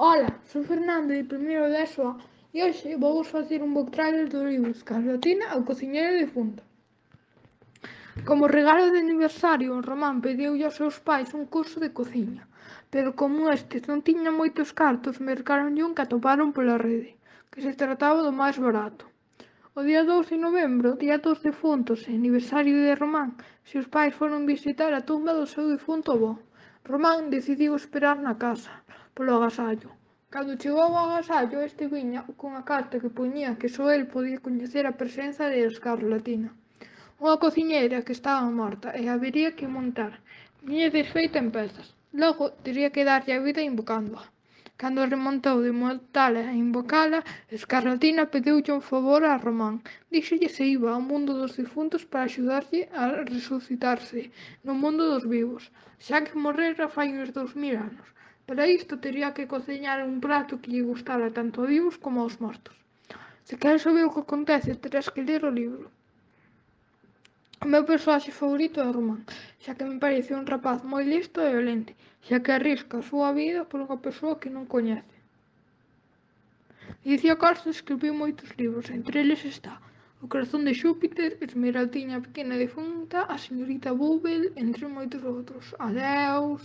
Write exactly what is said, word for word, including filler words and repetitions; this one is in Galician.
Ola, son Fernando de primeiro de ESO A e hoxe vou facer un book trailer do libro Escarlatina, o cociñeiro difunto. Como regalo de aniversario, Román pediulle aos seus pais un curso de cociña, pero como estes non tiñan moitos cartos, mercáronlle un que atoparon pola rede, que se trataba do máis barato. O día dous de novembro, día dos defuntos e aniversario de Román, seus pais foron visitar a tumba do seu difunto avó. Román decidiu esperar na casa, polo agasallo. Cando chegou ao agasallo, este viña cunha carta que poñía que só el podía coñecer a presenza de Escarlatina, unha cociñeira que estaba morta e habería que montar. Viña desfeita en pezas. Logo, tería que darlle a vida invocándoa. Cando remontou de mortala e invocala, Escarlatina pediulle un favor a Román. Díxolle se iba ao mundo dos difuntos para axudarlle a resucitarse no mundo dos vivos, xa que morrera fai uns dous mil anos. Para isto tería que cociñar un prato que lle gustara tanto aos vivos como aos mortos. Se queres saber o que acontece, terás que ler o libro. O meu persoaxe favorito é Román, xa que me parece un rapaz moi listo e valente, xa que arrisca a súa vida por unha persoa que non coñece. Dicía Costa escribiu moitos libros, entre eles está O corazón de Xúpiter, Esmeraldiña pequena defunta, A señorita Bubble, entre moitos outros. Adeus.